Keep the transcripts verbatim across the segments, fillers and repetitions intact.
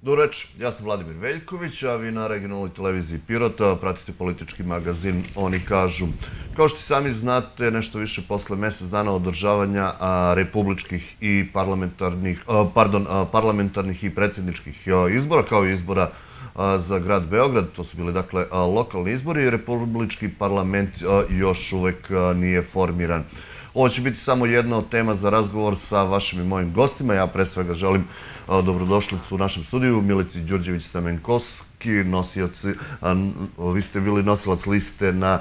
Dobro večer, ja sam Vladimir Veljković, a vi na regionalnoj televiziji Pirota pratite politički magazin Oni kažu. Kao što sami znate, nešto više posle mesec dana održavanja republičkih i parlamentarnih, pardon, parlamentarnih i predsjedničkih izbora, kao i izbora za grad Beograd, to su bili dakle lokalni izbori, republički parlament još uvek nije formiran. Ovo će biti samo jedna od tema za razgovor sa vašim i mojim gostima. Ja pre svega želim dobrodošlicu u našem studiju Milici Đurđević-Stamenkovski, nosioci, vi ste bili nosilac liste na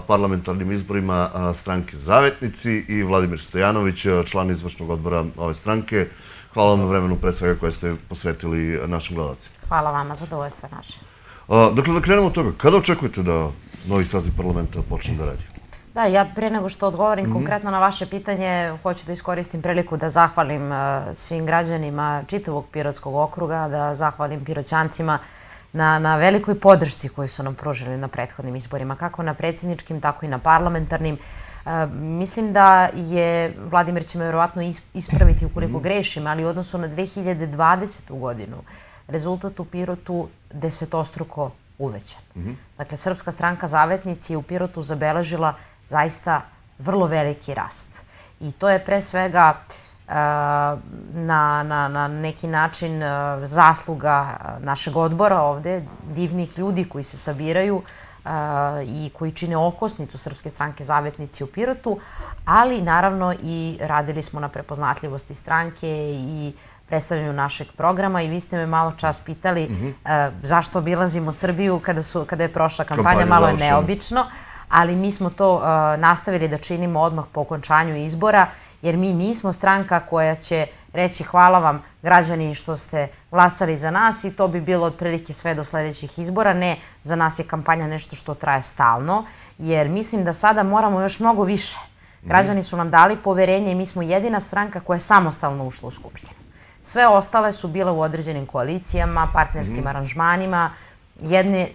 parlamentarnim izborima stranke Zavetnici, i Vladimir Stojanović, član izvršnog odbora ove stranke. Hvala vam na vremenu pre svega koje ste posvetili našim gledalcima. Hvala vama, zadovoljstvo je naše. Dakle, da krenemo od toga, kada očekujete da novi saziv parlamenta počne da radi? Da, ja pre nego što odgovorim konkretno na vaše pitanje, hoću da iskoristim priliku da zahvalim svim građanima čitavog Pirotskog okruga, da zahvalim Piroćancima na velikoj podršci koju su nam pružili na prethodnim izborima, kako na predsjedničkim, tako i na parlamentarnim. Mislim da je, Vladimir će me verovatno ispraviti ukoliko grešim, ali u odnosu na dve hiljade dvadesetu godinu rezultat u Pirotu desetostruko uvećan. Dakle, Srpska stranka Zavetnici je u Pirotu zabeležila zaista vrlo veliki rast. I to je pre svega na neki način zasluga našeg odbora ovde, divnih ljudi koji se sabiraju i koji čine okosnicu Srpske stranke Zavetnici u Pirotu, ali naravno i radili smo na prepoznatljivosti stranke i predstavljanju našeg programa. I vi ste me malo čas pitali zašto obilazimo Srbiju kada je prošla kampanja, malo je neobično, ali mi smo to nastavili da činimo odmah po okončanju izbora, jer mi nismo stranka koja će reći hvala vam građani što ste glasali za nas i to bi bilo otprilike sve do sledećih izbora. Ne, za nas je kampanja nešto što traje stalno, jer mislim da sada moramo još mnogo više. Građani su nam dali poverenje i mi smo jedina stranka koja je samostalno ušla u Skupštinu. Sve ostale su bile u određenim koalicijama, partnerskim aranžmanima, jedne,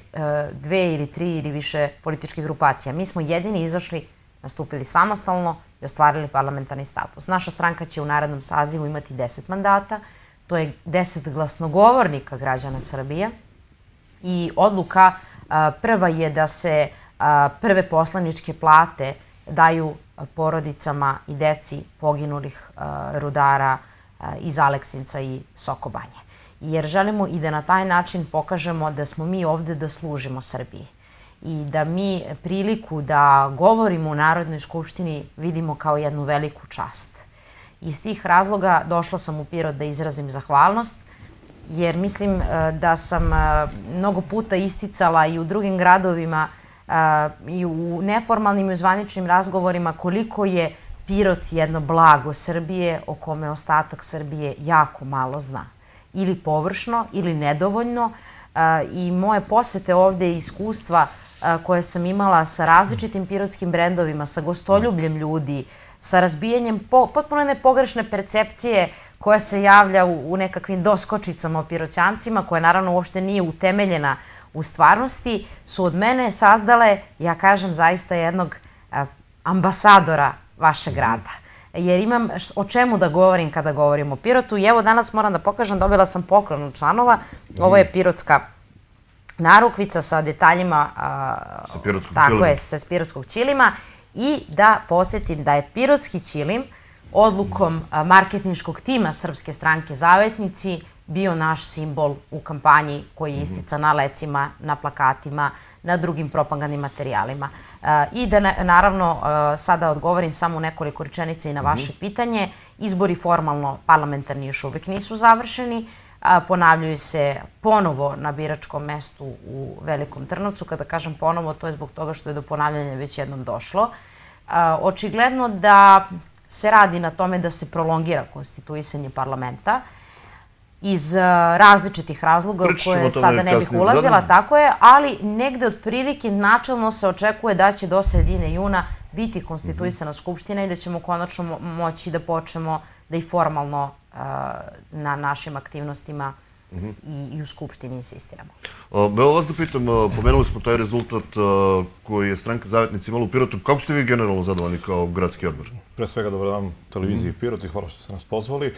dve ili tri ili više političkih grupacija. Mi smo jedini izašli, nastupili samostalno i ostvarili parlamentarni status. Naša stranka će u narednom sazivu imati deset mandata, to je deset glasnogovornika građana Srbije i odluka prva je da se prve poslaničke plate daju porodicama i deci poginulih rudara iz Aleksinca i Sokobanje. Jer želimo i da na taj način pokažemo da smo mi ovde da služimo Srbiji i da mi priliku da govorimo u Narodnoj skupštini vidimo kao jednu veliku čast. Iz tih razloga došla sam u Pirot da izrazim zahvalnost, jer mislim da sam mnogo puta isticala i u drugim gradovima i u neformalnim i u zvaničnim razgovorima koliko je Pirot jedno blago Srbije o kome ostatak Srbije jako malo zna. Ili površno, ili nedovoljno. I moje posete ovde i iskustva koje sam imala sa različitim pirotskim brendovima, sa gostoljubljem ljudi, sa razbijanjem potpuno nepogrešne percepcije koja se javlja u nekakvim doskočicama o Piroćancima, koja naravno uopšte nije utemeljena u stvarnosti, su od mene sazdale, ja kažem, zaista jednog ambasadora vašeg grada. Jer imam o čemu da govorim kada govorim o Pirotu. I evo danas moram da pokažem, dobila sam poklon od članova. Ovo je pirotska narukvica sa detaljima, tako je, sa pirotskog ćilima. I da podsjetim da je pirotski ćilim odlukom marketinškog tima Srpske stranke Zavetnici bio naš simbol u kampanji koji je istican na lecima, na plakatima, na drugim propagandnim materijalima. I da naravno sada odgovorim samo nekoliko rečenica i na vaše pitanje. Izbori formalno parlamentarni još uvek nisu završeni. Ponavljaju se ponovo na biračkom mestu u Velikom Trnovcu. Kada kažem ponovo, to je zbog toga što je do ponavljanja već jednom došlo. Očigledno da se radi na tome da se prolongira konstituisanje parlamenta iz različitih razloga u koje sada ne bih ulazila, tako je, ali negde otprilike načelno se očekuje da će do sredine juna biti konstituisana Skupština i da ćemo konačno moći da počnemo da i formalno na našim aktivnostima i u Skupštini insistiramo. Evo vas da pitam, pomenuli smo taj rezultat koji je stranka Zavetnici imala u Pirotu. Kako ste vi generalno zadovoljni kao gradski odbor? Pre svega dobar dan televiziji Pirot i hvala što ste nas pozvali.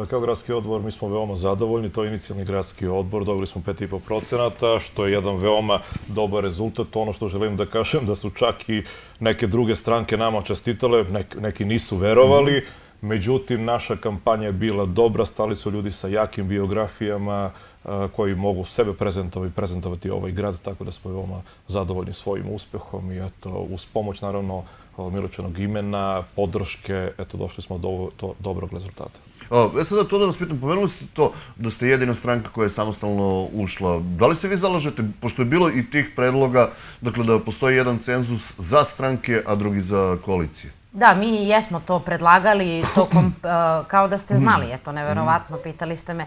Kao gradski odbor mi smo veoma zadovoljni, to je inicijalni gradski odbor, dobili smo pet i po procenata, što je jedan veoma dobar rezultat. Ono što želim da kažem, da su čak i neke druge stranke nama čestitale, neki nisu verovali, međutim, naša kampanja je bila dobra, stali su ljudi sa jakim biografijama koji mogu sebe prezentovati i prezentovati ovaj grad, tako da smo veoma zadovoljni svojim uspehom i eto, uz pomoć, naravno, Miločenog imena, podrške, eto, došli smo do dobrog rezultata. Ja sada to da vas pitam, pomenuli ste to da ste jedina stranka koja je samostalno ušla. Da li se vi zalažete, pošto je bilo i tih predloga, dakle da postoji jedan cenzus za stranke, a drugi za koalicije? Da, mi jesmo to predlagali tokom, kao da ste znali, eto, neverovatno, pitali ste me,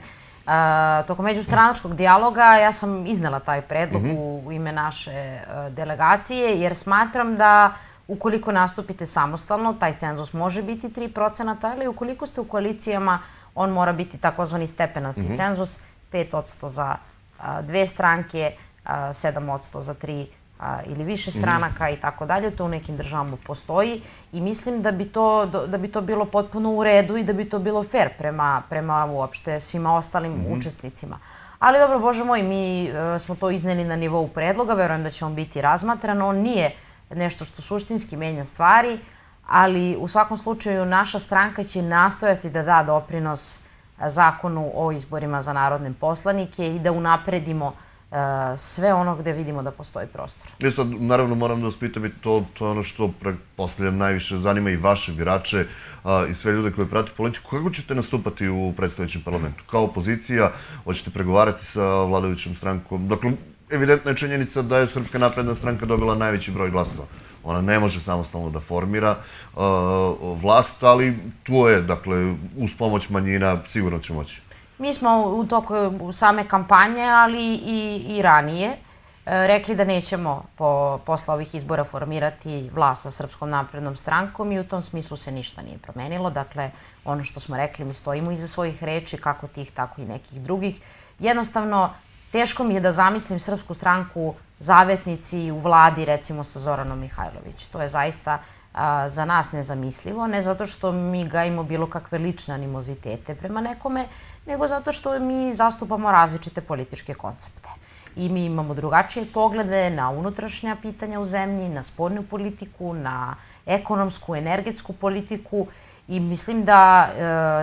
tokom međustranačkog dijaloga ja sam iznela taj predlog u ime naše delegacije, jer smatram da ukoliko nastupite samostalno, taj cenzus može biti tri procenata, ali ukoliko ste u koalicijama, on mora biti takozvani stepenasti cenzus, pet posto za dve stranke, sedam posto za tri ili više stranaka i tako dalje. To u nekim državama postoji i mislim da bi to, da bi to bilo potpuno u redu i da bi to bilo fair prema, prema uopšte svima ostalim učesnicima. Ali dobro, Bože moj, mi smo to izneli na nivou predloga, verujem da će on biti razmatran. On nije nešto što suštinski menja stvari, ali u svakom slučaju naša stranka će nastojati da da doprinos zakonu o izborima za narodne poslanike i da unapredimo sve ono gde vidimo da postoji prostor. Ja sad, naravno, moram da vas pitam i to, to je ono što, pretpostavljam, najviše zanima i vaše birače i sve ljude koji prate politiku. Kako ćete nastupati u predstojećem parlamentu? Kao opozicija, hoćete pregovarati sa vladajućom strankom? Dakle, evidentna je činjenica da je Srpska napredna stranka dobila najveći broj glasova. Ona ne može samostalno da formira vlast, ali tu je, dakle, uz pomoć manjina sigurno će moći. Mi smo u toku same kampanje, ali i ranije, rekli da nećemo posle ovih izbora formirati vlast sa Srpskom naprednom strankom i u tom smislu se ništa nije promenilo. Dakle, ono što smo rekli, mi stojimo iza svojih reči, kako tih, tako i nekih drugih. Jednostavno, teško mi je da zamislim Srpsku stranku Zavetnici u vladi, recimo, sa Zoranom Mihajlović. To je zaista za nas nezamislivo, ne zato što mi gajimo bilo kakve lične animozitete prema nekome, nego zato što mi zastupamo različite političke koncepte. I mi imamo drugačije poglede na unutrašnja pitanja u zemlji, na spoljnu politiku, na ekonomsku, energetsku politiku i mislim da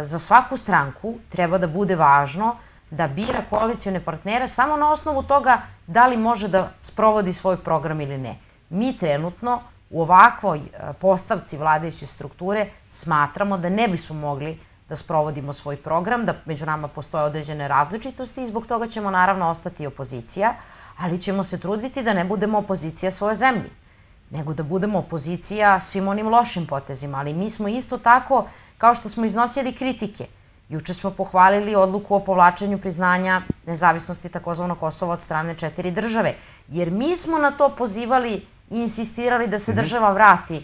za svaku stranku treba da bude važno da bira koalicione partnere samo na osnovu toga da li može da sprovodi svoj program ili ne. Mi trenutno u ovakvoj postavci vladajuće strukture smatramo da ne bismo mogli da sprovodimo svoj program, da među nama postoje određene različitosti i zbog toga ćemo naravno ostati opozicija, ali ćemo se truditi da ne budemo opozicija svoje zemlji, nego da budemo opozicija svim onim lošim potezima. Ali mi smo isto tako, kao što smo iznosili kritike, juče smo pohvalili odluku o povlačenju priznanja nezavisnosti takozvanog Kosova od strane četiri države, jer mi smo na to pozivali i insistirali da se država vrati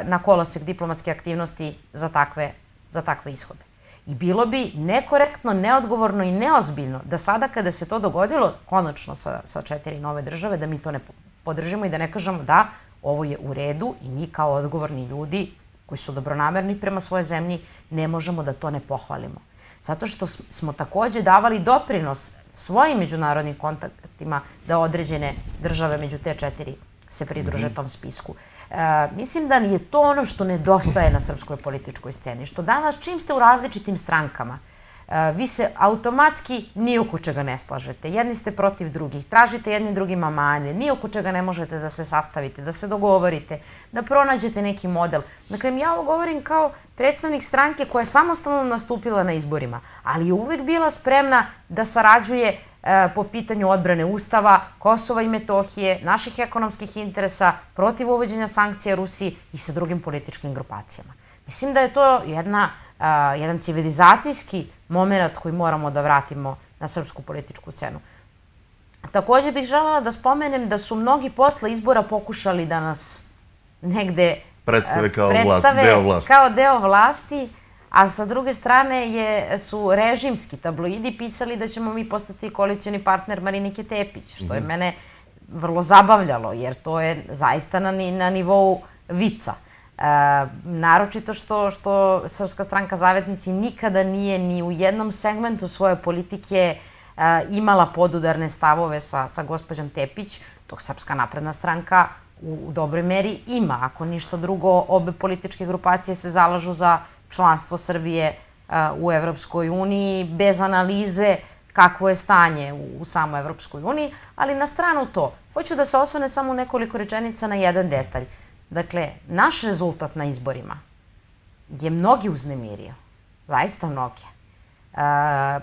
na kolosek diplomatske aktivnosti za takve za takve ishode. I bilo bi nekorektno, neodgovorno i neozbiljno da sada kada se to dogodilo, konačno sa četiri nove države, da mi to ne podržimo i da ne kažemo da ovo je u redu i mi kao odgovorni ljudi koji su dobronamerni prema svojoj zemlji ne možemo da to ne pohvalimo. Zato što smo takođe davali doprinos svojim međunarodnim kontaktima da određene države među te četiri se pridruže tom spisku. Mislim da je to ono što nedostaje na srpskoj političkoj sceni, što danas čim ste u različitim strankama, vi se automatski ni oko čega ne slažete. Jedni ste protiv drugih, tražite jedni drugima mane, ni oko čega ne možete da se sastavite, da se dogovorite, da pronađete neki model. Dakle, ja ovo govorim kao predstavnik stranke koja je samostalno nastupila na izborima, ali je uvek bila spremna da sarađuje po pitanju odbrane Ustava, Kosova i Metohije, naših ekonomskih interesa, protiv uvođenja sankcija Rusiji i sa drugim političkim grupacijama. Mislim da je to jedna, jedan civilizacijski moment koji moramo da vratimo na srpsku političku scenu. Takođe bih želela da spomenem da su mnogi posle izbora pokušali da nas negde predstave kao deo vlasti, a sa druge strane je, su režimski tabloidi pisali da ćemo mi postati koalicioni partner Marinike Tepić, što je mene vrlo zabavljalo, jer to je zaista na, na nivou vica. E, naročito što, što Srpska stranka Zavetnici nikada nije ni u jednom segmentu svoje politike e, imala podudarne stavove sa, sa gospođom Tepić, dok Srpska napredna stranka u, u dobroj meri ima. Ako ništa drugo, obe političke grupacije se zalažu za članstvo Srbije e, u Evropskoj uniji bez analize kakvo je stanje u, u samoj Evropskoj uniji, ali na stranu to. Hoću da se osvane samo nekoliko rečenica na jedan detalj. Dakle, naš rezultat na izborima je mnogi uznemirio. Zaista mnogi. E,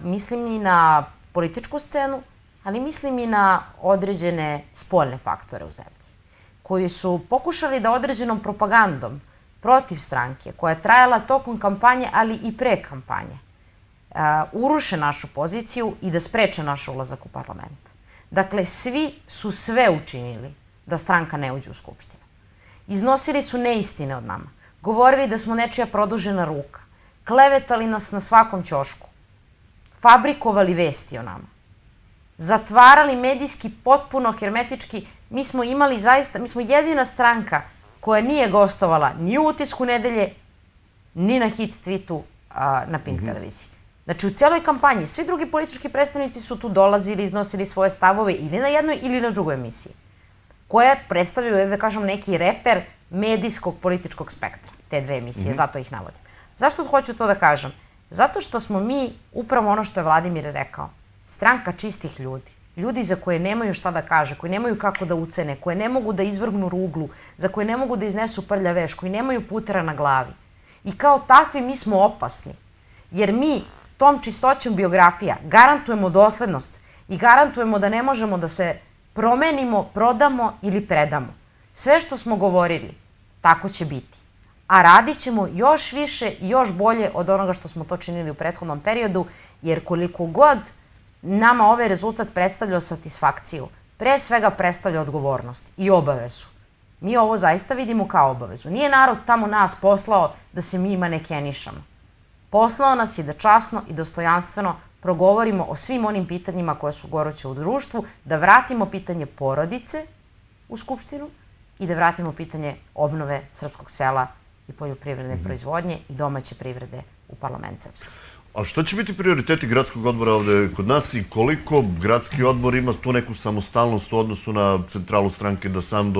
mislim i na političku scenu, ali mislim i na određene spoljne faktore u zemlji, koji su pokušali da određenom propagandom protiv stranke, koja je trajala tokom kampanje, ali i pre kampanje, uh, uruše našu poziciju i da spreče naš ulazak u parlament. Dakle, svi su sve učinili da stranka ne uđe u Skupštinu. Iznosili su neistine od nama, govorili da smo nečija produžena ruka, klevetali nas na svakom ćošku, fabrikovali vesti o nama, zatvarali medijski potpuno hermetički. Mi smo imali zaista, mi smo jedina stranka koja nije gostovala ni u Utisku nedelje, ni na hit tweetu a, na Pink televiziji. Znači, u cijeloj kampanji svi drugi politički predstavnici su tu dolazili, iznosili svoje stavove ili na jednoj ili na drugoj emisiji, koje predstavljaju, da kažem, neki reper medijskog političkog spektra, te dve emisije, zato ih navodim. Zašto hoću to da kažem? Zato što smo mi, upravo ono što je Vladimir rekao, stranka čistih ljudi. Ljudi za koje nemaju šta da kaže, koji nemaju kako da ucene, koje ne mogu da izvrgnu ruglu, za koje ne mogu da iznesu prlja veš, koji nemaju putera na glavi. I kao takvi mi smo opasni. Jer mi tom čistoćom biografija garantujemo doslednost i garantujemo da ne možemo da se promenimo, prodamo ili predamo. Sve što smo govorili, tako će biti. A radit ćemo još više i još bolje od onoga što smo to činili u prethodnom periodu, jer koliko god nama ovaj rezultat predstavlja satisfakciju, pre svega predstavlja odgovornost i obavezu. Mi ovo zaista vidimo kao obavezu. Nije narod tamo nas poslao da se mi manekenišamo. Poslao nas je da časno i dostojanstveno progovorimo o svim onim pitanjima koje su goruće u društvu, da vratimo pitanje porodice u Skupštinu i da vratimo pitanje obnove srpskog sela i poljoprivredne proizvodnje i domaće privrede u parlament srpski. A šta će biti prioriteti gradskog odbora ovde kod nas i koliko gradski odbor ima tu neku samostalnost u odnosu na centralu stranke da sam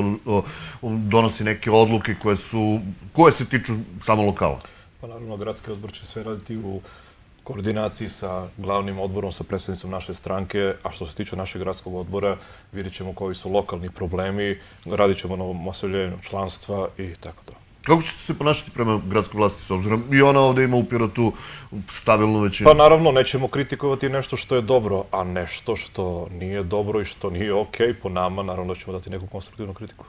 donosi neke odluke koje su, koje se tiču samo lokala? Pa naravno, gradski odbor će sve raditi u koordinaciji sa glavnim odborom, sa predstavnicom naše stranke, a što se tiče našeg gradskog odbora, vidjet ćemo koji su lokalni problemi, radit ćemo na omasovljenju članstva i tako da. Kako ćete se ponašati prema gradskoj vlasti s obzirom i ona ovde ima u Pirotu stabilnu većinu? Pa naravno, nećemo kritikovati nešto što je dobro, a nešto što nije dobro i što nije okej po nama, naravno da ćemo dati neku konstruktivnu kritiku.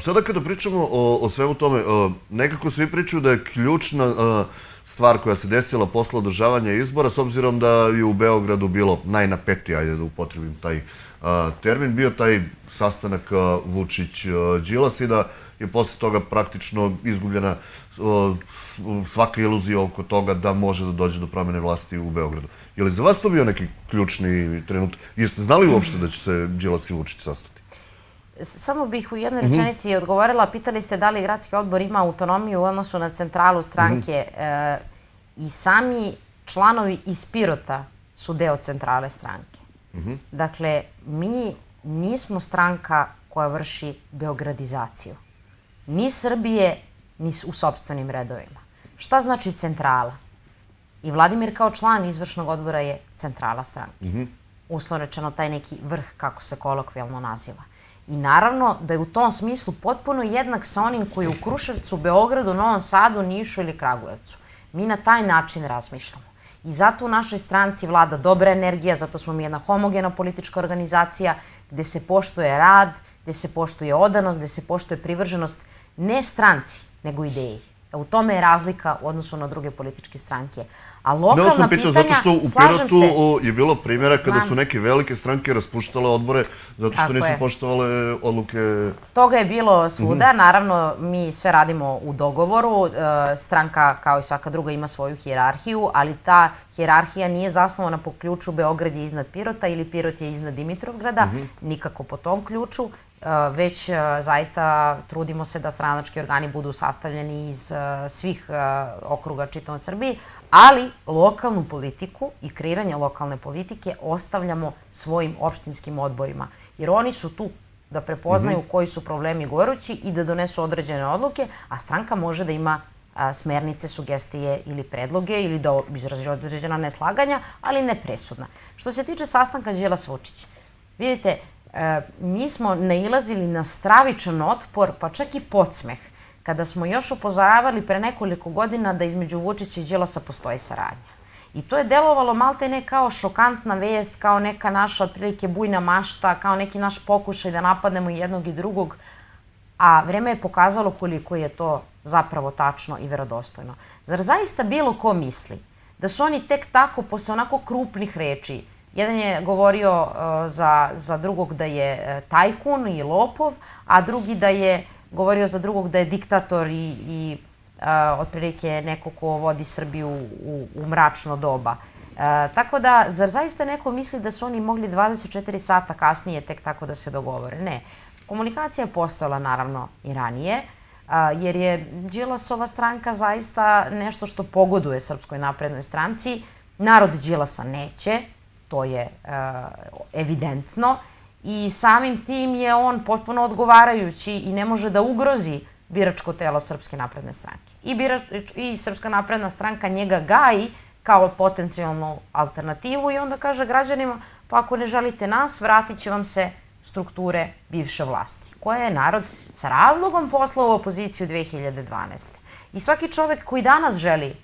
Sada kada pričamo o svemu tome, nekako svi pričaju da je ključna stvar koja se desila posle održavanja izbora, s obzirom da je u Beogradu bilo najnapetije, ajde da upotrebim taj termin, bio taj sastanak Vučić-Đilas i da je posle toga praktično izgubljena svaka iluzija oko toga da može da dođe do promjene vlasti u Beogradu. Je li za vas to bio neki ključni trenutak? Jeste znali uopšte da će se Đilas i Vučić sastati? Samo bih u jednoj rečenici odgovorila. Pitali ste da li gradski odbor ima autonomiju u odnosu na centralu stranke. I sami članovi iz Pirota su deo centrale stranke. Dakle, mi nismo stranka koja vrši beogradizaciju. Ni Srbije, ni u sopstvenim redovima. Šta znači centrala? I Vladimir kao član izvršnog odbora je centrala stranke. Uslovno rečeno taj neki vrh, kako se kolokvijalno naziva. I naravno da je u tom smislu potpuno jednak sa onim koji je u Kruševcu, Beogradu, Novom Sadu, Nišu ili Kragujevcu. Mi na taj način razmišljamo. I zato u našoj stranci vlada dobra energija, zato smo mi jedna homogena politička organizacija gde se poštuje rad, gde se poštuje odanost, gde se poštuje privrženost ne stranci, nego ideji. U tome je razlika u odnosu na druge političke stranke. A lokalna pitanja, zato što u Pirotu je bilo primjera kada su neke velike stranke raspuštale odbore zato što nisu poštovale odluke... Toga je bilo svuda. Naravno, mi sve radimo u dogovoru. Stranka, kao i svaka druga, ima svoju hijerarhiju, ali ta hijerarhija nije zasnovana po ključu Beograd je iznad Pirota ili Pirot je iznad Dimitrovgrada, nikako po tom ključu, već zaista trudimo se da stranački organi budu sastavljeni iz svih okruga čitavom Srbiji, ali lokalnu politiku i kreiranje lokalne politike ostavljamo svojim opštinskim odborima, jer oni su tu da prepoznaju koji su problemi gorući i da donesu određene odluke, a stranka može da ima smernice, sugestije ili predloge ili da izrazi određena neslaganja, ali ne presudna. Što se tiče sastanka Đilas-Vučić, vidite, mi smo nailazili na stravičan otpor, pa čak i podsmeh, kada smo još upozoravali pre nekoliko godina da između Vučića i Đilasa postoji saradnja. I to je delovalo malte ne kao šokantna vest, kao neka naša otprilike bujna mašta, kao neki naš pokušaj da napadnemo jednog i drugog, a vreme je pokazalo koliko je to zapravo tačno i verodostojno. Zar zaista bilo ko misli da su oni tek tako, posle onako krupnih reči, jedan je govorio za drugog da je tajkun i lopov, a drugi da je govorio za drugog da je diktator i otprilike neko ko vodi Srbiju u mračno doba. Tako da, zar zaista neko misli da su oni mogli dvadeset četiri sata kasnije tek tako da se dogovore? Ne. Komunikacija je postojala naravno i ranije, jer je Đilasova stranka zaista nešto što pogoduje Srpskoj naprednoj stranci. Narod Đilasa neće, to je evidentno, i samim tim je on potpuno odgovarajući i ne može da ugrozi biračko telo Srpske napredne stranke. I Srpska napredna stranka njega gaji kao potencijalnu alternativu i onda kaže građanima, pa ako ne želite nas, vratit će vam se strukture bivše vlasti, koje je narod sa razlogom poslao u opoziciju dve hiljade dvanaeste. I svaki čovek koji danas želi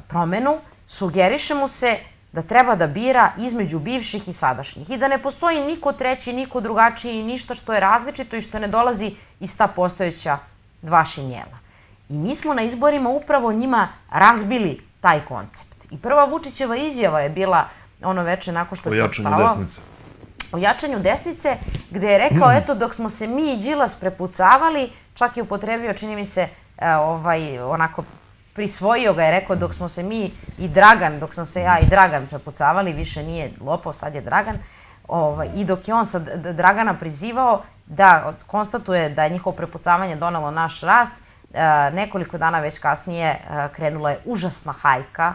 promenu, sugeriše mu se da treba da bira između bivših i sadašnjih i da ne postoji niko treći, niko drugačiji i ništa što je različito i što ne dolazi iz ta postojeća dva šinjela. I mi smo na izborima upravo njima razbili taj koncept. I prva Vučićeva izjava je bila ono veče nakon što se odspavao o jačanju desnice, gde je rekao, eto, dok smo se mi i Đilas prepucavali, čak je upotrebio, čini mi se, onako, prisvojio ga je, rekao, dok smo se mi i Dragan, dok sam se ja i Dragan prepucavali, više nije lopov, sad je Dragan, i dok je on sad Dragana prizivao da konstatuje da je njihovo prepucavanje donalo naš rast, nekoliko dana već kasnije krenula je užasna hajka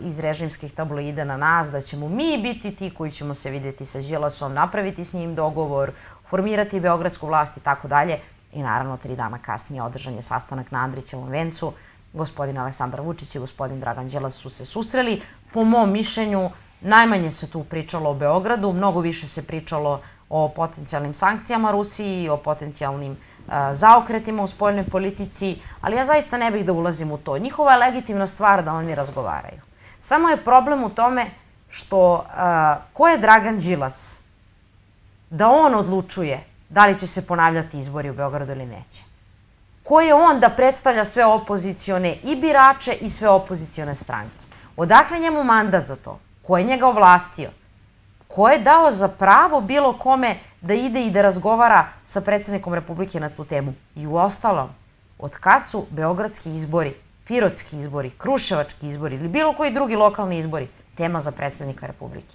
iz režimskih tabloida na nas, da ćemo mi biti ti koji ćemo se vidjeti sa Đilasom, napraviti s njim dogovor, formirati beogradsku vlast i tako dalje. I naravno, tri dana kasnije održan je sastanak na Andrićevom vencu. Gospodin Aleksandar Vučić i gospodin Dragan Đilas su se susreli. Po mom mišljenju, najmanje se tu pričalo o Beogradu, mnogo više se pričalo o potencijalnim sankcijama Rusiji, o potencijalnim zaokretima u spoljnoj politici, ali ja zaista ne bih da ulazim u to. Njihova je legitimna stvar da oni razgovaraju. Samo je problem u tome što ko je Dragan Đilas da on odlučuje da li će se ponavljati izbori u Beogradu ili neće. Ko je on da predstavlja sve opozicione i birače i sve opozicione stranke? Odakle njemu mandat za to? Ko je njega ovlastio? Ko je dao za pravo bilo kome da ide i da razgovara sa predsjednikom Republike na tu temu? I uostalom, od kad su beogradski izbori, pirotski izbori, kruševački izbori ili bilo koji drugi lokalni izbori tema za predsjednika Republike?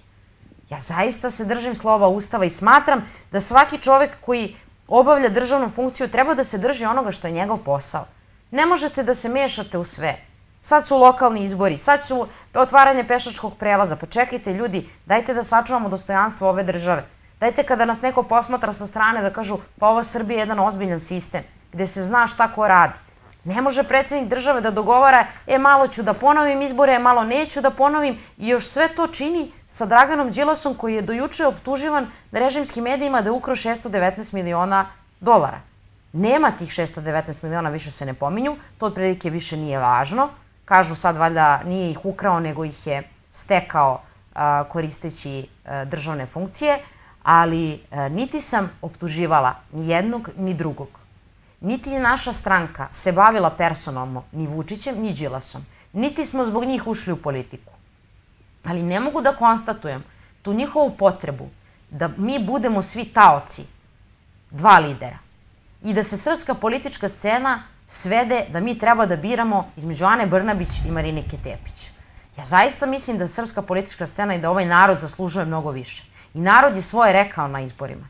Ja zaista se držim slova Ustava i smatram da svaki čovek koji obavlja državnu funkciju treba da se drži onoga što je njegov posao. Ne možete da se mešate u sve. Sad su lokalni izbori, sad su otvaranje pešačkog prelaza. Pa čekajte ljudi, dajte da sačuvamo dostojanstvo ove države. Dajte kada nas neko posmatra sa strane da kažu pa ova Srbija je jedan ozbiljan sistem gde se zna šta ko radi. Ne može predsjednik države da dogovara e malo ću da ponovim izbore, e malo neću da ponovim i još sve to čini sa Draganom Đilasom koji je dojuče optuživan na režimskim medijima da je ukrao šesto devetnaest miliona dolara. Nema tih šesto devetnaest miliona, više se ne pominju, to otprilike više nije važno. Kažu sad valjda nije ih ukrao, nego ih je stekao koristeći državne funkcije, ali niti sam optuživala ni jednog ni drugog. niti je naša stranka se bavila personalno ni Vučićem, ni Đilasom. Niti smo zbog njih ušli u politiku. Ali ne mogu da konstatujem tu njihovu potrebu da mi budemo svi taoci dva lidera i da se srpska politička scena svede da mi treba da biramo između Ane Brnabić i Marinike Tepić. Ja zaista mislim da srpska politička scena i da ovaj narod zaslužuje mnogo više. I narod je svoje rekao na izborima.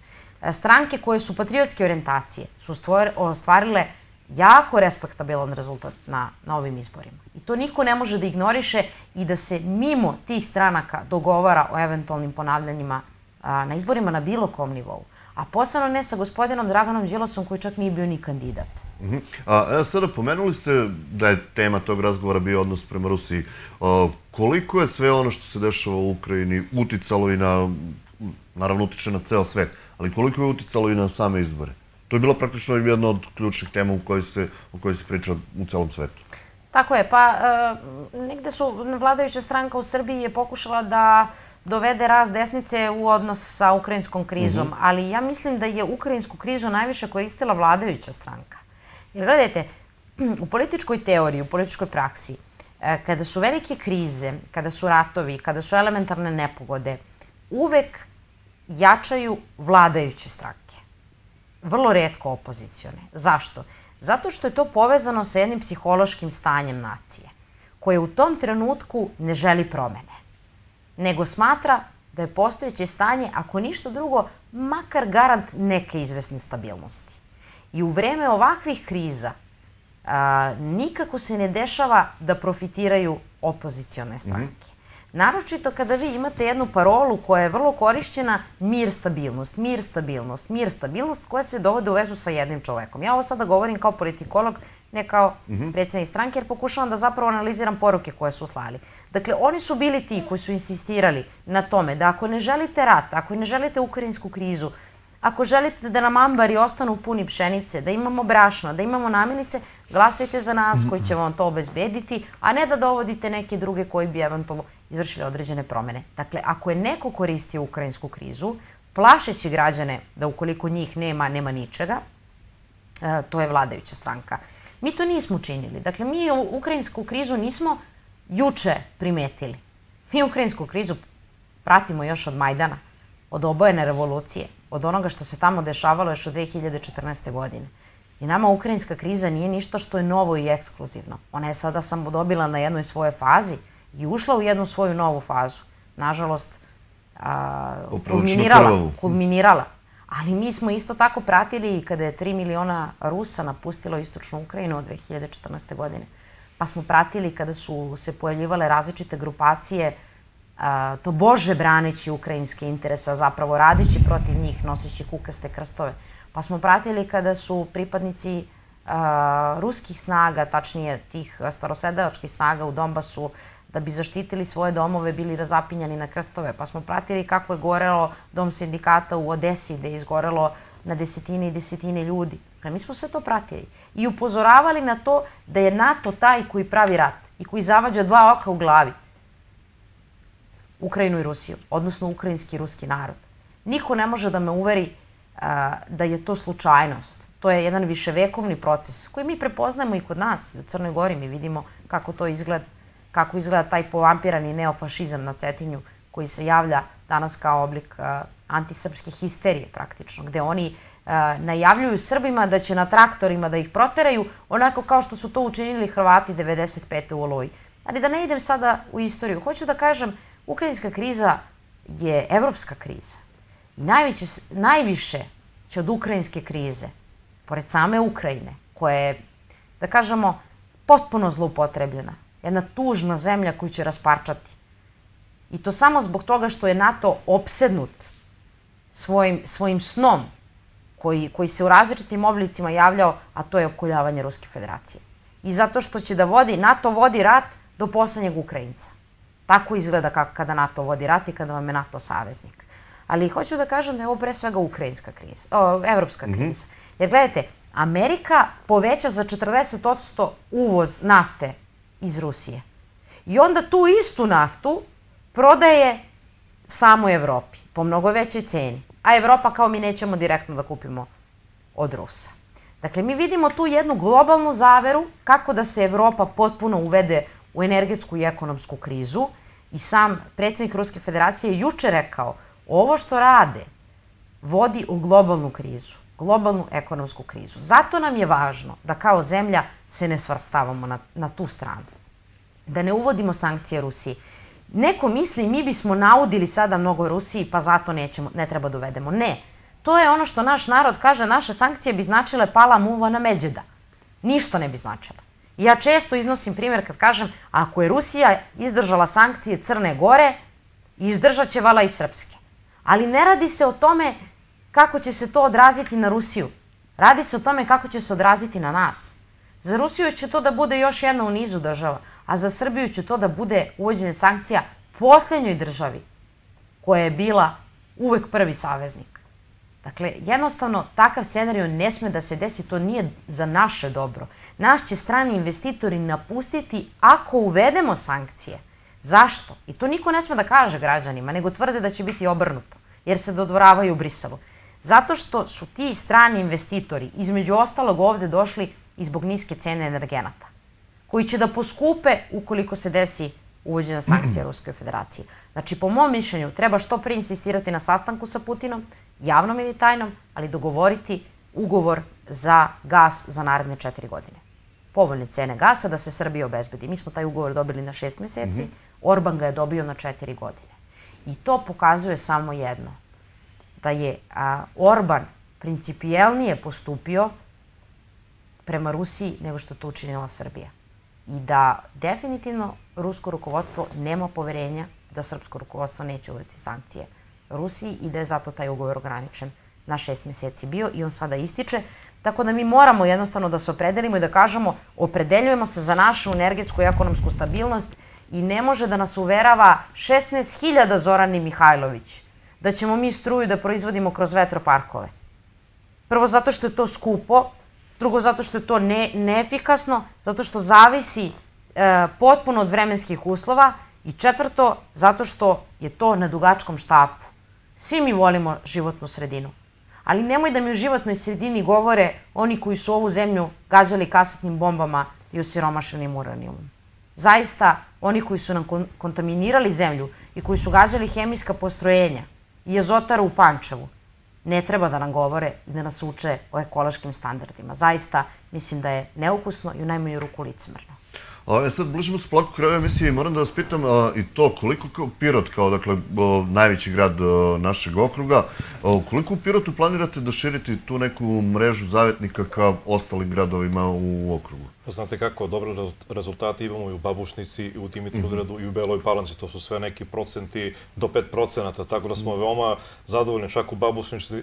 Stranke koje su patriotske orijentacije su ostvarile jako respektabilan rezultat na, na ovim izborima. I to niko ne može da ignoriše i da se mimo tih stranaka dogovara o eventualnim ponavljanjima a, na izborima na bilo kom nivou. A posebno ne sa gospodinom Draganom Đilasom koji čak nije bio ni kandidat. Uh-huh. A evo sada pomenuli ste da je tema tog razgovora bio odnos prema Rusiji. A, koliko je sve ono što se dešava u Ukrajini uticalo i na, naravno utiče na ceo svet, ali koliko je uticalo i na same izbore? To je bilo praktično jedna od ključnih tema u kojoj se, o kojoj se priča u celom svetu. Tako je, pa e, negde su vladajuća stranka u Srbiji je pokušala da dovede rast desnice u odnos sa ukrajinskom krizom, uh-huh. ali ja mislim da je ukrajinsku krizu najviše koristila vladajuća stranka. Jer gledajte, u političkoj teoriji, u političkoj praksi, e, kada su velike krize, kada su ratovi, kada su elementarne nepogode, uvek jačaju vladajuće stranke. Vrlo retko opozicione. Zašto? Zato što je to povezano sa jednim psihološkim stanjem nacije, koje u tom trenutku ne želi promene, nego smatra da je postojeće stanje, ako ništa drugo, makar garant neke izvesne stabilnosti. I u vreme ovakvih kriza a, nikako se ne dešava da profitiraju opozicione stranke. Naročito kada vi imate jednu parolu koja je vrlo korišćena, mir, stabilnost, mir, stabilnost, mir, stabilnost, koja se dovode u vezu sa jednim čovekom. Ja ovo sada govorim kao politikolog, ne kao predsjednik stranke, jer pokušavam da zapravo analiziram poruke koje su slali. Dakle, oni su bili ti koji su insistirali na tome da ako ne želite rat, ako ne želite ukrajinsku krizu, ako želite da nam ambari ostanu puni pšenice, da imamo brašna, da imamo namirnice, glasajte za nas koji će vam to obezbediti, a ne da dovodite neke druge koji bi eventualno izvršili određene promene. Dakle, ako je neko koristio ukrajinsku krizu, plašeći građane da ukoliko njih nema, nema ničega, to je vladajuća stranka. Mi to nismo učinili. Dakle, mi ukrajinsku krizu nismo juče primetili. Mi ukrajinsku krizu pratimo još od Majdana, od obojene revolucije, od onoga što se tamo dešavalo još od dve hiljade četrnaeste. godine. I nama ukrajinska kriza nije ništa što je novo i ekskluzivno. Ona je sada samo dobila na jednoj svojoj fazi i ušla u jednu svoju novu fazu. Nažalost, kulminirala, kulminirala. Ali mi smo isto tako pratili i kada je tri miliona Rusa napustilo istočnu Ukrajinu od dve hiljade četrnaeste. godine. Pa smo pratili kada su se pojavljivale različite grupacije, to bože braneći ukrajinske interesa, zapravo radići protiv njih, nosići kukaste krstove. Pa smo pratili kada su pripadnici ruskih snaga, tačnije tih starosedelačkih snaga u Donbasu, da bi zaštitili svoje domove, bili razapinjani na krstove. Pa smo pratili kako je gorelo dom sindikata u Odesi, gde je izgorelo na desetine i desetine ljudi. Mi smo sve to pratili i upozoravali na to da je NATO taj koji pravi rat i koji zavađa dva oka u glavi Ukrajinu i Rusiju, odnosno ukrajinski i ruski narod. Niko ne može da me uveri da je to slučajnost. To je jedan viševekovni proces koji mi prepoznajemo i kod nas, i u Crnoj Gori. Mi vidimo kako to izgleda, kako izgleda taj povampirani neofašizam na Cetinju koji se javlja danas kao oblik antisrpske histerije praktično, gde oni najavljuju Srbima da će na traktorima da ih proteraju, onako kao što su to učinili Hrvati devedeset pete. u Oluji. Ali da ne idem sada u istoriju, hoću da kažem, ukrajinska kriza je evropska kriza. I najviše, najviše će od ukrajinske krize, pored same Ukrajine, koja je, da kažemo, potpuno zloupotrebljena, jedna tužna zemlja koju će rasparčati. I to samo zbog toga što je NATO opsednut svojim, svojim snom, koji, koji se u različitim oblicima javljao, a to je opkoljavanje Ruske federacije. I zato što će da vodi, NATO vodi rat do poslednjeg Ukrajinca. Tako izgleda kako kada NATO vodi rat i kada vam je NATO saveznik. Ali hoću da kažem da je ovo pre svega ukrajinska kriza, o, evropska kriza. Jer gledajte, Amerika poveća za četrdeset posto uvoz nafte iz Rusije. I onda tu istu naftu prodaje samoj Evropi po mnogo većoj ceni. A Evropa kao mi nećemo direktno da kupimo od Rusa. Dakle, mi vidimo tu jednu globalnu zaveru kako da se Evropa potpuno uvede u energetsku i ekonomsku krizu i sam predsjednik Ruske federacije je juče rekao ovo što rade vodi u globalnu krizu, globalnu ekonomsku krizu. Zato nam je važno da kao zemlja se ne svrstavamo na, na tu stranu, da ne uvodimo sankcije Rusiji. Neko misli mi bismo naudili sada mnogo Rusiji pa zato nećemo, ne treba da uvedemo. Ne, to je ono što naš narod kaže, naše sankcije bi značile pala muva na međeda. Ništa ne bi značile. Ja često iznosim primjer kad kažem ako je Rusija izdržala sankcije Crne Gore, izdržat će vala i Srpske. Ali ne radi se o tome kako će se to odraziti na Rusiju. Radi se o tome kako će se odraziti na nas. Za Rusiju će to da bude još jedna u nizu država, a za Srbiju će to da bude uvođenje sankcija posljednjoj državi koja je bila uvek prvi saveznik. Dakle, jednostavno, takav scenario ne sme da se desi, to nije za naše dobro. Nas će strani investitori napustiti ako uvedemo sankcije. Zašto? I to niko ne sme da kaže građanima, nego tvrde da će biti obrnuto, jer se dodvoravaju u Briselu. Zato što su ti strani investitori, između ostalog, ovde došli i zbog niske cene energenata, koji će da poskupe ukoliko se desi uvođenja sankcija Ruskoj federaciji. Znači, po mom mišljenju, treba što pre insistirati na sastanku sa Putinom, javnom ili tajnom, ali dogovoriti ugovor za gas za naredne četiri godine. Povoljne cene gasa da se Srbiji obezbedi. Mi smo taj ugovor dobili na šest meseci, Orban ga je dobio na četiri godine. I to pokazuje samo jedno, da je a, Orban principijelnije postupio prema Rusiji nego što to učinila Srbija. I da definitivno rusko rukovodstvo nema poverenja da srpsko rukovodstvo neće uvesti sankcije Rusiji i da je zato taj ugovor ograničen na šest meseci bio i on sada ističe. Tako da mi moramo jednostavno da se opredelimo i da kažemo opredeljujemo se za našu energetsku i ekonomsku stabilnost i ne može da nas uverava šesnaest hiljada Zorani Mihajlović da ćemo mi struju da proizvodimo kroz vetroparkove. Prvo zato što je to skupo, drugo zato što je to ne, neefikasno, zato što zavisi e, potpuno od vremenskih uslova i četvrto zato što je to na dugačkom štapu. Svi mi volimo životnu sredinu, ali nemoj da mi u životnoj sredini govore oni koji su ovu zemlju gađali kasetnim bombama i osiromašenim uranijumom. Zaista, oni koji su nam kon kontaminirali zemlju i koji su gađali hemijska postrojenja i azotaru u Pančevu, ne treba da nam govore i da nas uče o ekološkim standardima. Zaista, mislim da je neukusno i u najmanju ruku licemerno. A sad bližimo se polako kraju emisije i moram da vas pitam i to koliko kao Pirot, kao dakle najveći grad našeg okruga, koliko u Pirotu planirate da širite tu neku mrežu zavetnika ka ostalim gradovima u okrugu? Znate kako, dobre rezultate imamo i u Babušnici, i u Dimitrovgradu, i u Beloj Palanci. To su sve neki procenti do pet procenata, tako da smo veoma zadovoljni. Čak u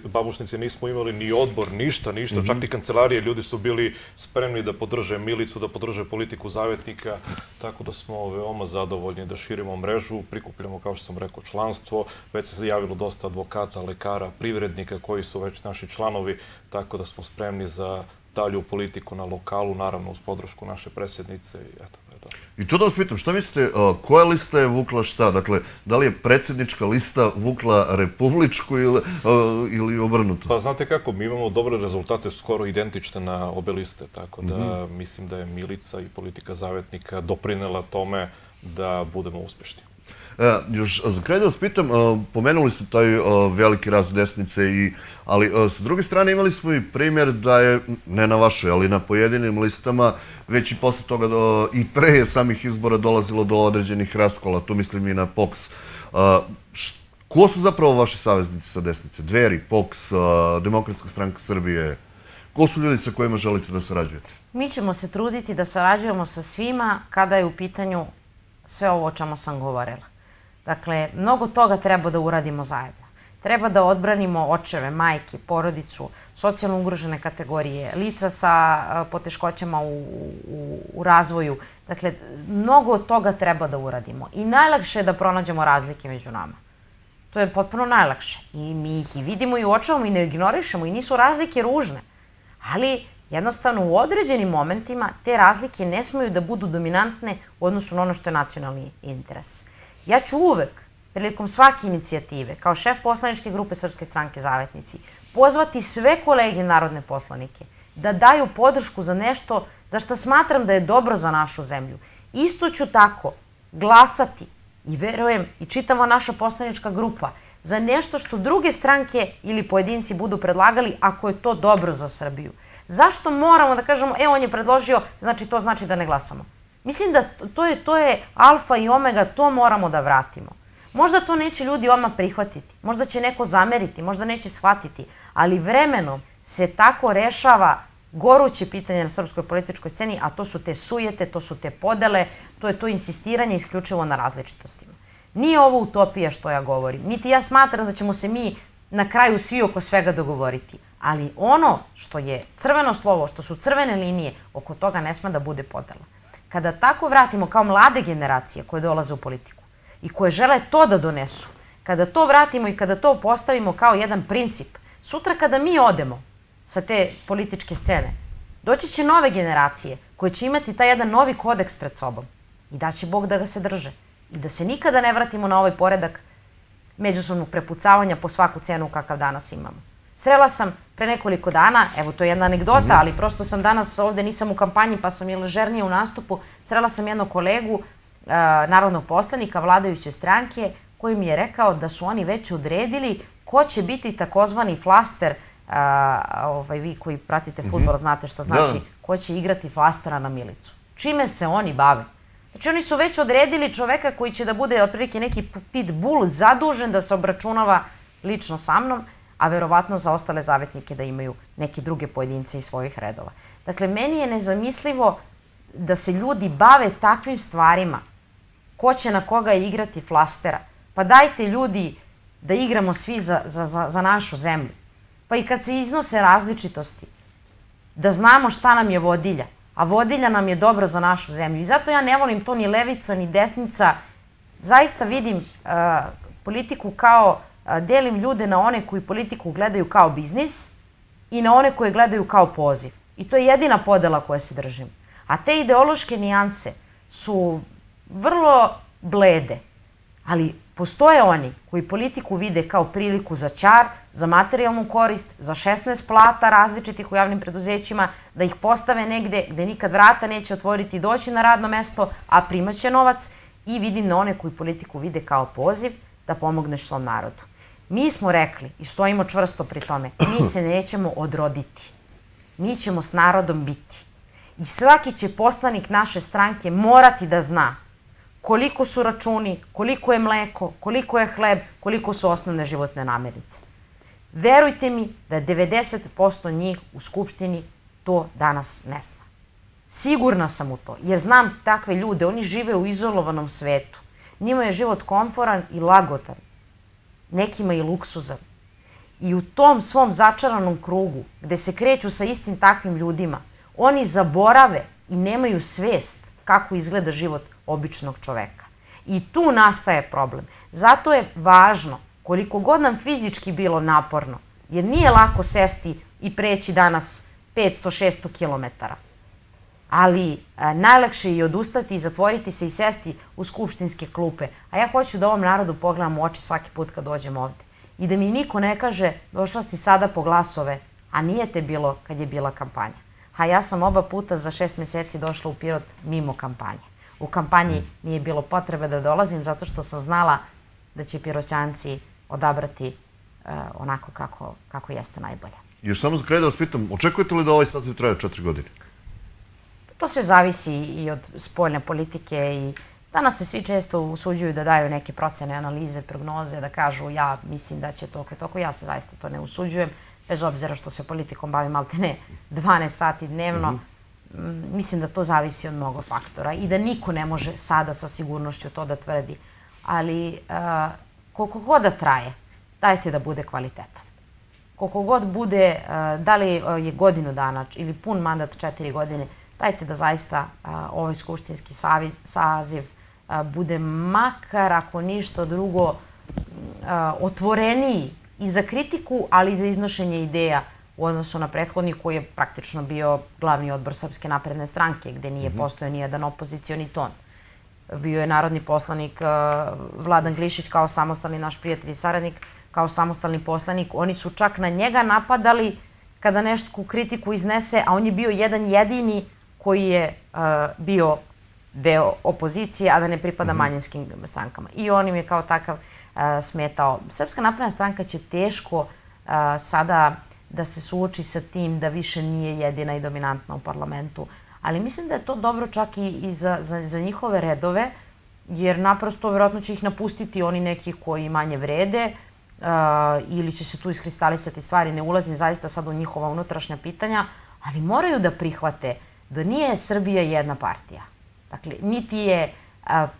Babušnici nismo imali ni odbor, ništa, ništa. Čak i kancelarije, ljudi su bili spremni da podrže Milicu, da podrže politiku zavetnika. Tako da smo veoma zadovoljni da širimo mrežu, prikupljamo, kao što sam rekao, članstvo. Već se javilo dosta advokata, lekara, privrednika koji su već naši članovi, tako da smo spremni za dalju politiku na lokalu, naravno uz podršku naše predsjednice i eto, to je to. I to da vas pitam, šta mislite, koja lista je vukla šta? Dakle, da li je predsjednička lista vukla republičku ili obrnuto? Pa znate kako, mi imamo dobre rezultate, skoro identične na obe liste, tako da mislim da je Milica i politika zavetnika doprinela tome da budemo uspješni. Još za kraj da vas pitam, pomenuli ste taj veliki rast desnice, ali sa druge strane imali smo i primjer da je, ne na vašoj, ali na pojedinim listama, već i posle toga i pre samih izbora dolazilo do određenih raskola, tu mislim i na P O K S. Ko su zapravo vaši saveznici sa desnice? Dveri, P O K S, Demokratska stranka Srbije? Ko su ljudi sa kojima želite da sarađujete? Mi ćemo se truditi da sarađujemo sa svima kada je u pitanju sve ovo o čemu sam govorila. Dakle, mnogo toga treba da uradimo zajedno. Treba da odbranimo očeve, majke, porodicu, socijalno ugrožene kategorije, lica sa poteškoćama u, u, u razvoju. Dakle, mnogo toga treba da uradimo. I najlakše je da pronađemo razlike među nama. To je potpuno najlakše. I mi ih i vidimo i uočavamo i ne ignorišemo i nisu razlike ružne. Ali jednostavno u određenim momentima te razlike ne smeju da budu dominantne u odnosu na ono što je nacionalni interes. Ja ću uvek, prilikom svake inicijative, kao šef poslaničke grupe Srpske stranke Zavetnici, pozvati sve kolege narodne poslanike da daju podršku za nešto za što smatram da je dobro za našu zemlju. Isto ću tako glasati i verujem i čitava naša poslanička grupa za nešto što druge stranke ili pojedinci budu predlagali ako je to dobro za Srbiju. Zašto moramo da kažemo, e, on je predložio, znači to znači da ne glasamo? Mislim da to je, to je alfa i omega, to moramo da vratimo. Možda to neće ljudi odmah prihvatiti, možda će neko zameriti, možda neće shvatiti, ali vremenom se tako rešava goruće pitanje na srpskoj političkoj sceni, a to su te sujete, to su te podele, to je to insistiranje isključivo na različitostima. Nije ovo utopija što ja govorim, niti ja smatram da ćemo se mi na kraju svi oko svega dogovoriti, ali ono što je crveno slovo, što su crvene linije, oko toga ne sme da bude podela. Kada tako vratimo kao mlade generacije koje dolaze u politiku i koje žele to da donesu, kada to vratimo i kada to postavimo kao jedan princip, sutra kada mi odemo sa te političke scene, doći će nove generacije koje će imati taj jedan novi kodeks pred sobom i da će Bog da ga se drže i da se nikada ne vratimo na ovaj poredak međusobnog prepucavanja po svaku cenu kakav danas imamo. Srela sam pre nekoliko dana, evo to je jedna anegdota, ali prosto sam danas ovde, nisam u kampanji pa sam i ležernije u nastupu, srela sam jednog kolegu, narodnog poslanika vladajuće stranke, koji mi je rekao da su oni već odredili ko će biti takozvani flaster, vi koji pratite fudbal znate šta znači, ko će igrati flastera na Milicu. Čime se oni bave? Znači oni su već odredili čoveka koji će da bude otprilike neki pitbull zadužen da se obračunava lično sa mnom, a verovatno za ostale zavetnike da imaju neke druge pojedince iz svojih redova. Dakle, meni je nezamislivo da se ljudi bave takvim stvarima. Ko će na koga igrati flastera? Pa dajte ljudi da igramo svi za, za, za, za našu zemlju. Pa i kad se iznose različitosti, da znamo šta nam je vodilja. A vodilja nam je dobro za našu zemlju. I zato ja ne volim to ni levica, ni desnica. Zaista vidim uh, politiku kao, uh, delim ljude na one koji politiku gledaju kao biznis i na one koje gledaju kao poziv. I to je jedina podela koja se držim. A te ideološke nijanse su vrlo blede. Ali postoje oni koji politiku vide kao priliku za ćar, za materijalnu korist, za šesnaest plata različitih u javnim preduzećima, da ih postave negde gde nikad vrata neće otvoriti i doći na radno mesto, a primaće novac, i vidim na one koji politiku vide kao poziv da pomogneš svom narodu. Mi smo rekli i stojimo čvrsto pri tome, mi se nećemo odroditi. Mi ćemo s narodom biti. I svaki će poslanik naše stranke morati da zna koliko su računi, koliko je mleko, koliko je hleb, koliko su osnovne životne namirnice. Verujte mi da devedeset posto njih u Skupštini to danas ne zna. Sigurna sam u to, jer znam takve ljude, oni žive u izolovanom svetu. Njima je život komforan i lagodan, nekima i luksuzan. I u tom svom začaranom krugu, gde se kreću sa istim takvim ljudima, oni zaborave i nemaju svest kako izgleda život običnog čoveka. I tu nastaje problem. Zato je važno, koliko god nam fizički bilo naporno, jer nije lako sesti i preći danas petsto do šesto kilometara. Ali a, najlakše je i odustati i zatvoriti se i sesti u skupštinske klupe. A ja hoću da ovom narodu pogledam u oči svaki put kad dođem ovde. I da mi niko ne kaže, došla si sada po glasove, a nije te bilo kad je bila kampanja. A ja sam oba puta za šest meseci došla u Pirot mimo kampanje. U kampanji nije bilo potrebe da dolazim zato što sam znala da će Piroćanci odabrati uh, onako kako, kako jeste najbolje. Još samo za kraj da vas pitam, očekujete li da ovaj saziv traje četiri godine? To sve zavisi i od spoljne politike i danas se svi često usuđuju da daju neke procene, analize, prognoze, da kažu ja mislim da će toko i toko. Ja se zaista to ne usuđujem, bez obzira što se politikom bavim maltene dvanaest sati dnevno. Mm-hmm. Mislim da to zavisi od mnogo faktora i da niko ne može sada sa sigurnošću to da tvrdi. Ali uh, koliko god da traje, dajte da bude kvalitetan. Koliko god bude, uh, da li je godinu dana ili pun mandat četiri godine, dajte da zaista uh, ovaj skupštinski saviz, saziv uh, bude makar, ako ništa drugo, uh, otvoreniji i za kritiku, ali i za iznošenje ideja u odnosu na prethodni koji je praktično bio glavni odbor Srpske napredne stranke, gde nije mm-hmm. postojao nijedan opozicioni ton. Bio je narodni poslanik uh, Vladan Glišić kao samostalni naš prijatelj i saradnik, kao samostalni poslanik. Oni su čak na njega napadali kada nešto kritiku iznese, a on je bio jedan jedini koji je bio deo opozicije, a da ne pripada manjinskim strankama. I on im je kao takav smetao. Srpska napredna stranka će teško sada da se suoči sa tim da više nije jedina i dominantna u parlamentu. Ali mislim da je to dobro čak i za njihove redove, jer naprosto vjerojatno će ih napustiti oni neki koji manje vrede ili će se tu iskristalisati stvari. Ne ulazim zaista sad u njihova unutrašnja pitanja, ali moraju da prihvate da nije Srbija jedna partija. Dakle, niti je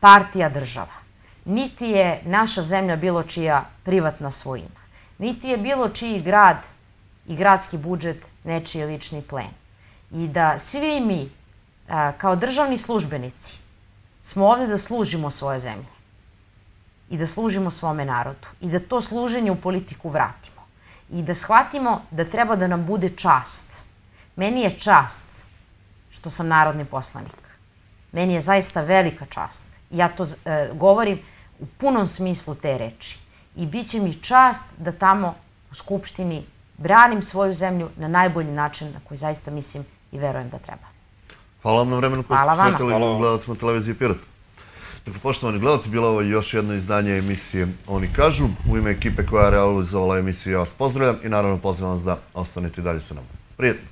partija država, niti je naša zemlja bilo čija privatna svojina, niti je bilo čiji grad i gradski budžet nečiji lični plen. I da svi mi, kao državni službenici, smo ovde da služimo svoje zemlje i da služimo svome narodu i da to služenje u politiku vratimo i da shvatimo da treba da nam bude čast. Meni je čast što sam narodni poslanik. Meni je zaista velika čast. Ja to govorim u punom smislu te reči. I bit će mi čast da tamo u Skupštini branim svoju zemlju na najbolji način na koji zaista mislim i verujem da treba. Hvala vam na vremenu koje ste posvetili gledalcima televizije Pirot. Dakle, poštovani gledalci, bilo ovo još jedno izdanje emisije Oni kažu. U ime ekipe koja je realizovala emisiju ja vas pozdravljam i naravno pozivam vas da ostanete dalje sa nama. Prijetno!